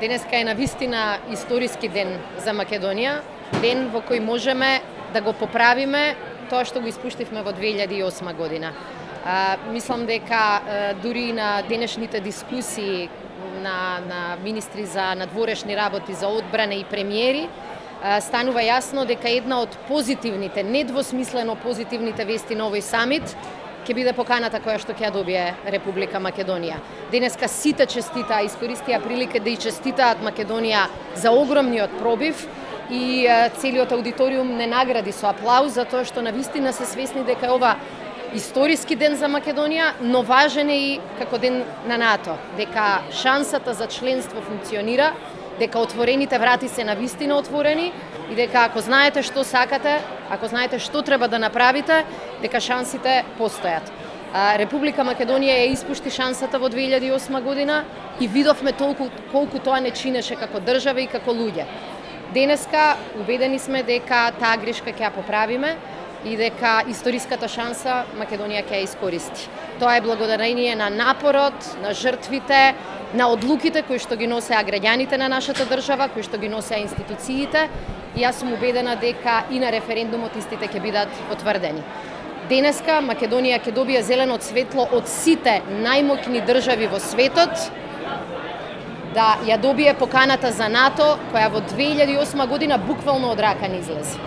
Денеска е навистина историски ден за Македонија, ден во кој можеме да го поправиме тоа што го испуштивме во 2008 година. Мислам дека дури на денешните дискусии на министри за надворешни работи, за одбрана и премиери, станува јасно дека една од позитивните, недвосмислено позитивните вести на овој самит ќе биде поканата која што ќе ја добие Република Македонија. Денеска сите честитаа, искористија прилика да и честитаат Македонија за огромниот пробив и целиот аудиториум не награди со аплауз за тоа што навистина се свесни дека е ова историски ден за Македонија, но важен е и како ден на НАТО, дека шансата за членство функционира, дека отворените врати се навистина отворени и дека ако знаете што сакате, ако знаете што треба да направите, дека шансите постојат. Република Македонија ја испушти шансата во 2008 година и видовме толку колку тоа не чинеше како држава и како луѓе. Денеска убедени сме дека таа грешка ќе ја поправиме и дека историската шанса Македонија ќе ја искористи. Тоа е благодарение на напорот, на жртвите, на одлуките кои што ги носеа граѓаните на нашата држава, кои што ги носеа институциите, и јас сум убедена дека и на референдумот истите ќе бидат потврдени. Денеска Македонија ќе добие зелено светло од сите најмоќни држави во светот да ја добие поканата за НАТО, која во 2008 година буквално од рака ни излезе.